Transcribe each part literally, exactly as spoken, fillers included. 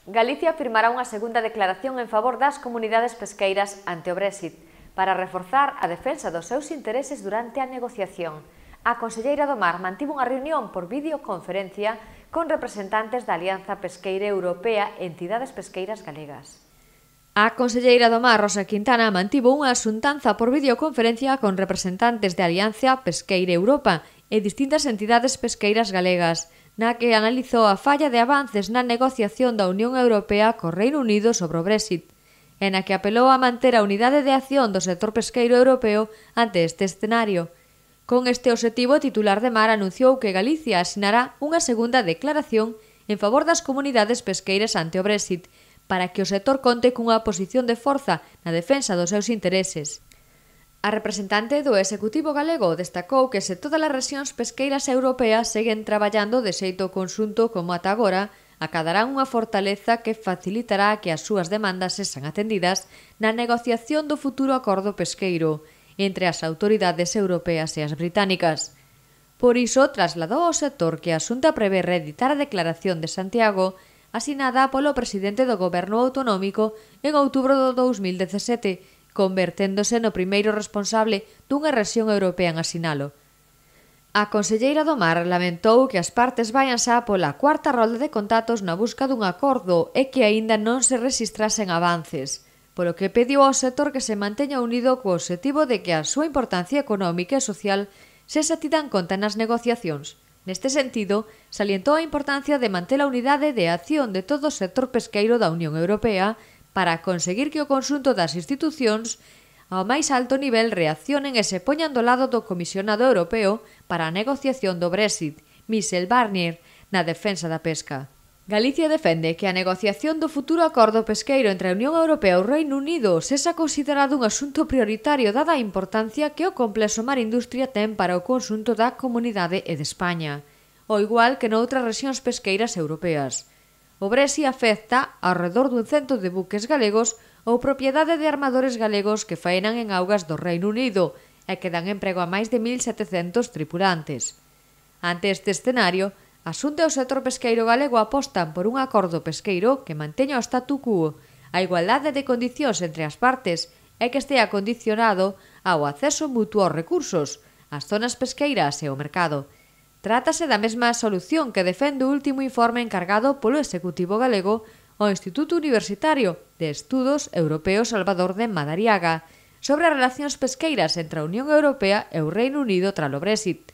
Galicia firmará unha segunda declaración en favor das comunidades pesqueiras ante o Brexit para reforzar a defensa dos seus intereses durante a negociación. A conselleira do Mar mantivo unha reunión por videoconferencia con representantes da Alianza Pesqueira Europea e entidades pesqueiras galegas. A conselleira do Mar, Rosa Quintana, mantivo unha xuntanza por videoconferencia con representantes de Alianza Pesqueira Europa e distintas entidades pesqueiras galegas, na que analizou a falla de avances na negociación da Unión Europea co Reino Unido sobre o Brexit, e na que apelou a manter a unidade de acción do sector pesqueiro europeo ante este escenario. Con este obxectivo, o titular de Mar anunciou que Galicia asinará unha segunda declaración en favor das comunidades pesqueiras ante o Brexit, para que o sector conte cunha posición de forza na defensa dos seus intereses. A representante do Executivo galego destacou que se todas as rexións pesqueiras europeas seguen traballando de xeito conxunto como ata agora, acadarán unha fortaleza que facilitará que as súas demandas sexan atendidas na negociación do futuro acordo pesqueiro entre as autoridades europeas e as británicas. Por iso, trasladou ao sector que a Xunta prevé reeditar a Declaración de Santiago asinada polo presidente do Goberno Autonómico en outubro do dous mil dezasete, converténdose no primeiro responsable dunha rexión europea en asinalo. A conselleira do Mar lamentou que as partes vayan xa pola cuarta rolda de contactos na busca dun acordo e que aínda non se rexistrasen avances, polo que pediu ao sector que se manteña unido co obxectivo de que a súa importancia económica e social sexa tida en conta nas negociacións. Neste sentido, salientou a importancia de manter a unidade de acción de todo o sector pesqueiro da Unión Europea para conseguir que o conxunto das institucións ao máis alto nivel reaccionen e se poñan do lado do comisionado europeo para a negociación do Brexit, Michel Barnier, na defensa da pesca. Galicia defende que a negociación do futuro acordo pesqueiro entre a Unión Europea e o Reino Unido sexa considerado un asunto prioritario dada a importancia que o complexo mar industria ten para o conxunto da comunidade e de España, ao igual que noutras rexións pesqueiras europeas. O Brexit afecta ao redor dun cento de buques galegos ou propiedade de armadores galegos que faenan en augas do Reino Unido e que dan emprego a máis de mil setecentos tripulantes. Ante este escenario, a Xunta e o sector pesqueiro galego apostan por un acordo pesqueiro que manteña o statu quo, a igualdade de condicións entre as partes e que estea condicionado ao acceso mutuo aos recursos, ás zonas pesqueiras e ao mercado. Trátase da mesma solución que defende o último informe encargado polo Executivo galego ao Instituto Universitario de Estudos Europeos Salvador de Madariaga sobre as relacións pesqueiras entre a Unión Europea e o Reino Unido tralo Brexit,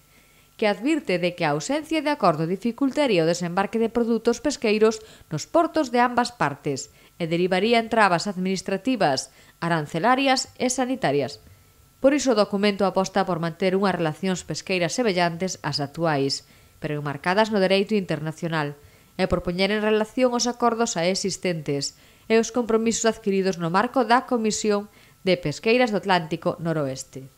que advirte de que a ausencia de acordo dificultaría o desembarque de produtos pesqueiros nos portos de ambas partes e derivaría en trabas administrativas, arancelarias e sanitarias. Por iso o documento aposta por manter unhas relacións pesqueiras semellantes ás actuais, pero enmarcadas no dereito internacional, e por poñer en relación os acordos xa existentes e os compromisos adquiridos no marco da Comisión de Pesqueiras do Atlántico Noroeste.